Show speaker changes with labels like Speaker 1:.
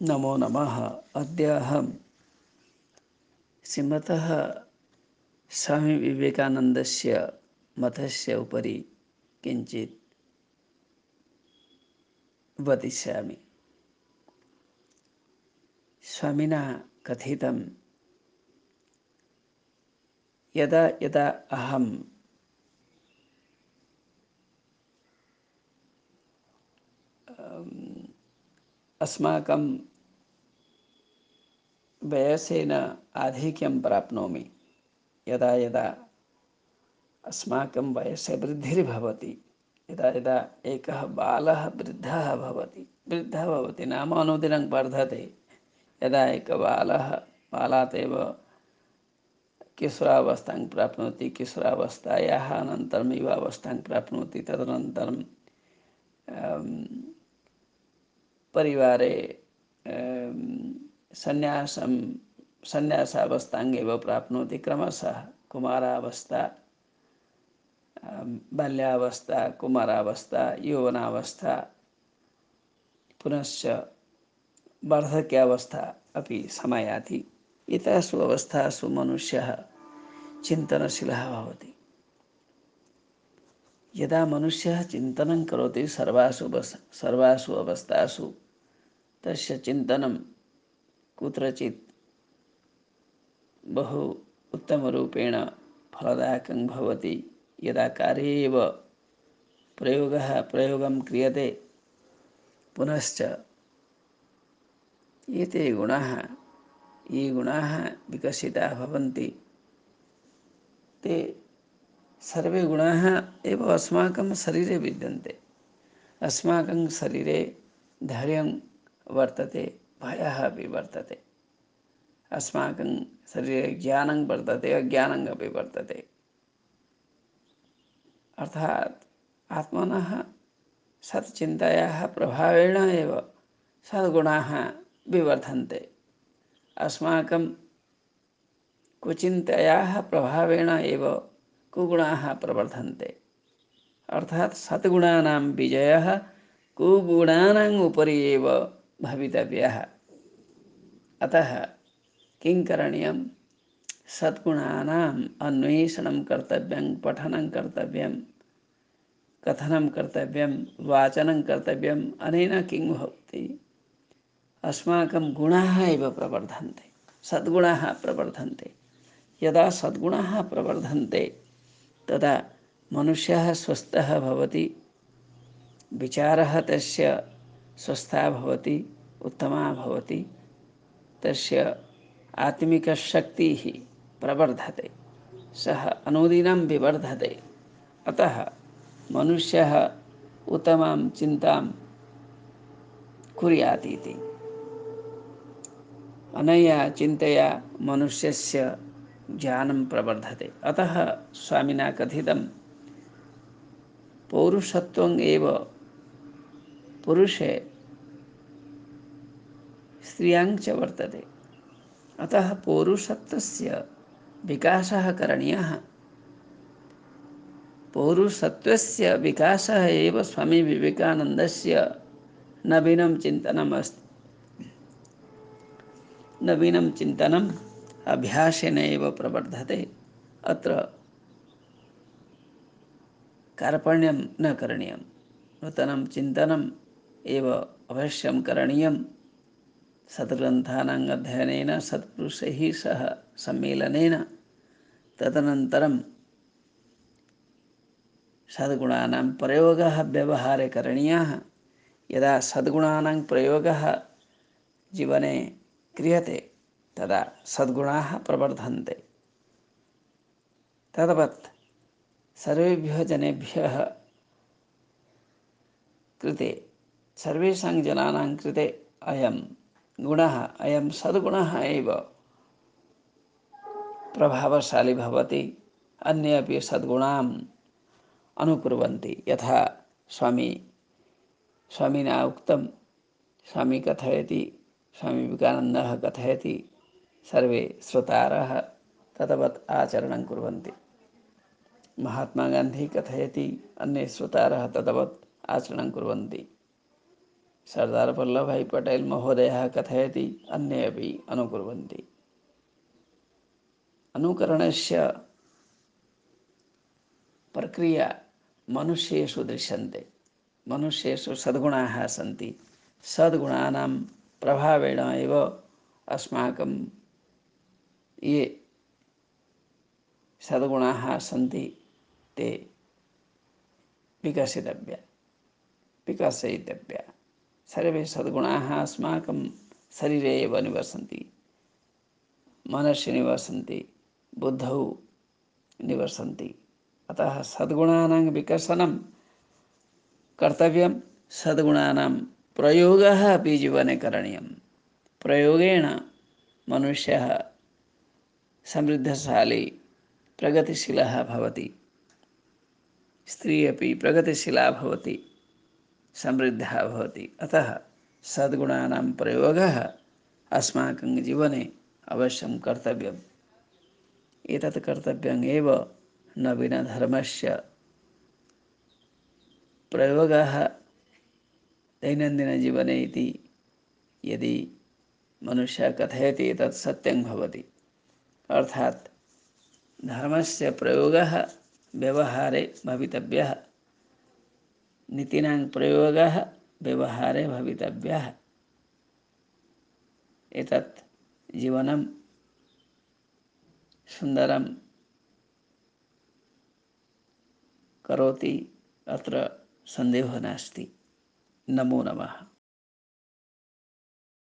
Speaker 1: नमो नमः। अद्य अहं श्रीमतः स्वामी विवेकानन्दस्य मतस्य उपरि किञ्चित् वदिष्यामि। स्वामिना कथितं यदा यदा अहं अस्माकं वयसेन आधिक्यं प्राप्नोमि, यदा यदा अस्माकं वयस्य वृद्धिर्भवति, यदा यदा एकः बालः वृद्धः भवति नाम अनुदिनं वर्धते। यदा एकः बालात् एव किशोरावस्थां प्राप्नोति, किशोरावस्थायाः अनन्तरं युवावस्थां प्राप्नोति, तदनन्तरं परिवारे सन्न्यासावस्थाम् एव प्राप्नोति। क्रमशः कुमारावस्था, बाल्यावस्था, कुमारावस्था, यौवनावस्था, पुनश्च वार्धक्यावस्था अपि समायाति। एतासु अवस्थासु मनुष्यः चिन्तनशीलः भवति। यदा मनुष्यः चिन्तनं करोति सर्वासु अवस्थासु, तस्य चिन्तनं कुत्रचित् बहु उत्तमरूपेण फलदायकं भवति। यदा कार्ये एव प्रयोगं क्रियते, पुनश्च ये गुणाः विकसिताः भवन्ति, ते सर्वे गुणाः एव अस्माकं शरीरे विद्यन्ते। अस्माकं शरीरे धैर्यं वर्तते, भयः अपि वर्तते। अस्माकं शरीरे ज्ञानं वर्तते, अज्ञानम् अपि वर्तते। अर्थात् आत्मनः सच्चिन्तयाः प्रभावेण एव सद्गुणाः विवर्धन्ते। अस्माकं कुचिन्तयाः प्रभावेण एव कुगुणाः प्रवर्धन्ते। अर्थात् सद्गुणानां विजयः कुगुणानाम् उपरि एव भवितव्यः। अतः किं करणीयं? सद्गुणानाम् अन्वेषणं कर्तव्यं, पठनं कर्तव्यं, कथनं कर्तव्यं, वाचनं कर्तव्यम्। अनेन किं भवति? अस्माकं गुणाः एव प्रवर्धन्ते, सद्गुणाः प्रवर्धन्ते। यदा सद्गुणाः प्रवर्धन्ते, तदा मनुष्यः स्वस्थः भवति, विचारः तस्य स्वस्थः भवति, उत्तमः भवति, तस्य आत्मिकशक्तिः प्रवर्धते, सः अनुदिनं विवर्धते। अतः मनुष्यः उत्तमां चिन्तां कुर्यात् इति। अनया चिन्तया मनुष्यस्य ज्ञानं प्रवर्धते। अतः स्वामिना कथितं पौरुषत्वम् एव पुरुषे स्त्रियां च वर्तते। अतः पौरुषत्वस्य विकासः करणीयः। पौरुषत्वस्य विकासः एव स्वामी विवेकानन्दस्य नवीनं चिन्तनम् अस्ति। नवीनं चिन्तनम् अभ्यासेन एव प्रवर्धते। अत्र कार्पण्यं न करणीयं, नूतनं चिन्तनम् एव अवश्यं करणीयं। सद्ग्रन्थानाम् अध्ययनेन, सत्पुरुषैः सह सम्मेलनेन, तदनन्तरं सद्गुणानां प्रयोगः व्यवहारे करणीयः। यदा सद्गुणानां प्रयोगः जीवने क्रियते, तदा सद्गुणाः प्रवर्धन्ते। तद्वत् सर्वेभ्यः जनेभ्यः कृते, सर्वेषां जनानां कृते अयं गुणः, अयं सद्गुणः एव प्रभावशाली भवति। अन्ये अपि सद्गुणान् अनुकुर्वन्ति। यथा स्वामिना उक्तं, स्वामी कथयति, स्वामी विवेकानन्दः कथयति, सर्वे श्रोतारः तद्वत् आचरणं कुर्वन्ति। महात्मा गान्धी कथयति, अन्ये श्रोतारः तद्वत् आचरणं कुर्वन्ति। सरदार वल्लभभाई पटेल महोदयः कथयति, अन्ये अपि अनुकुर्वन्ति। अनुकरणस्य प्रक्रिया मनुष्येषु दृश्यन्ते। मनुष्येषु सद्गुणाः सन्ति। सद्गुणानां प्रभावेण एव अस्माकं ये सद्गुणाः सन्ति ते विकसयितव्या। सर्वे सद्गुणाः अस्माकं शरीरे एव निवसन्ति, मनसि निवसन्ति, बुद्धौ निवसन्ति। अतः सद्गुणानां विकसनं कर्तव्यं, सद्गुणानां प्रयोगः अपि जीवने करणीयं। प्रयोगेण मनुष्यः समृद्धशाली प्रगतिशीलः भवति, स्त्री अपि प्रगतिशीला भवति, समृद्धः भवति। अतः सद्गुणानां प्रयोगः अस्माकं जीवने अवश्यं कर्तव्यम्। एतत् कर्तव्यम् एव नवीनधर्मस्य प्रयोगः दैनन्दिनजीवने इति यदि मनुष्यः कथयति तत् सत्यं भवति। अर्थात् धर्मस्य प्रयोगः व्यवहारे भवितव्यः, नीतीनां प्रयोगः व्यवहारे भवितव्यः। एतत् जीवनं सुन्दरं करोति, अत्र सन्देहः नास्ति। नमो नमः।